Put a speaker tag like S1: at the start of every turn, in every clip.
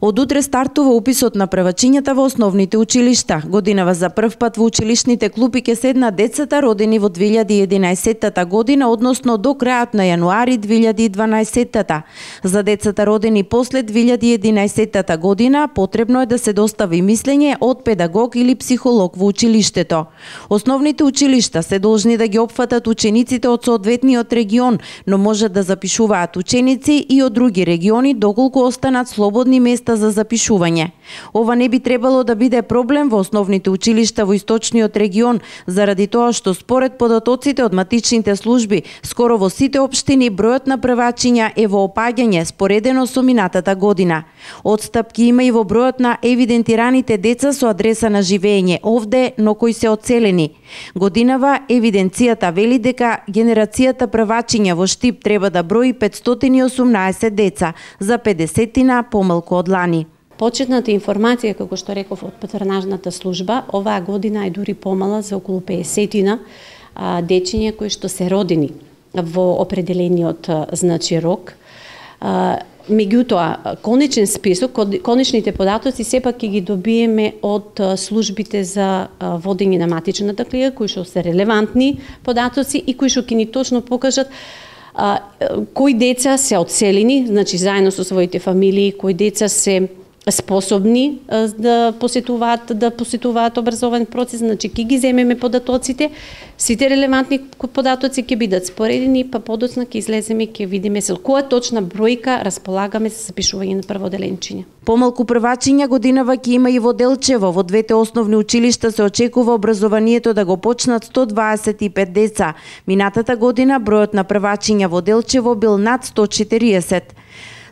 S1: Од утре стартува уписот на првачињата во основните училишта. Годинава за прв пат во училишните клупи ќе седнат децата родени во 2011 година, односно до крајот на јануари 2012. За децата родени после 2011 година потребно е да се достави мислење од педагог или психолог во училиштето. Основните училишта се должни да ги опфатат учениците од соодветниот регион, но можат да запишуваат ученици и од други региони доколку останат слободни места за запишување. Ова не би требало да биде проблем во основните училишта во источниот регион, заради тоа што според податоците од матичните служби, скоро во сите општини бројот на првачиња е во опаѓање споредено со минатата година. Отстапки има и во бројот на евидентираните деца со адреса на живење овде, но кои се одселени. Годинава евиденцијата вели дека генерацијата првачиња во Штип треба да брои 518 деца, за 50 помалку од лани.
S2: Почетната информација, како што реков, од патронажната служба, оваа година е дури помала за околу 50 дечиња кои што се родени во определениот рок. Меѓутоа, конечен список, конечните податоци сепак ќе ги добиеме од службите за водење на матичната книга, кои што се релевантни податоци и кои што ќе ни точно покажат кои деца се одселени, значи заедно со своите фамилии, кои деца се способни да посетуваат образовен процес, значи ќе ги земеме податоците, сите релевантни податоци ќе бидат споредени, па подоцна ќе излеземе, ќе видиме со која точна бројка располагаме за запишување на прводеленчиња.
S1: Помалку првачиња годинава ќе има и во Делчево. Во двете основни училишта се очекува образованието да го почнат 125 деца. Минатата година бројот на првачиња во Делчево бил над 140.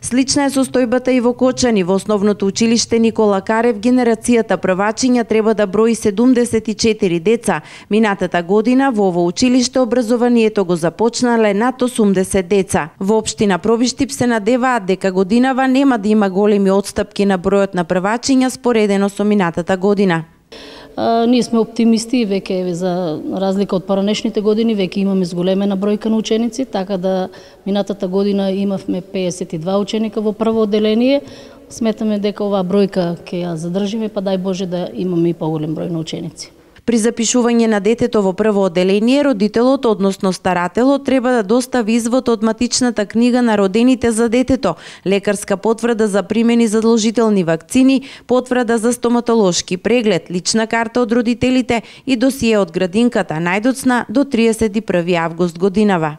S1: Слична е состојбата и во Кочани. Во основното училиште Никола Карев генерацијата првачиња треба да брои 74 деца. Минатата година во ово училиште образованието го започнале над 80 деца. Во општина Пробиштип се надеваат дека годинава нема да има големи отстапки на бројот на првачиња споредено со минатата година.
S3: Ние сме оптимисти и веќе за разлика од поранешните години веќе имаме зголемена бројка на ученици, така да минатата година имавме 52 ученика во прво одделение. Сметаме дека оваа бројка ќе ја задржиме, па дај Боже да имаме и поголем број на ученици.
S1: При запишување на детето во прво одделение, родителот, односно старателот, треба да достави извод од матичната книга на родените за детето, лекарска потврда за примени задолжителни вакцини, потврда за стоматолошки преглед, лична карта од родителите и досие од градинката најдоцна до 31 август годинава.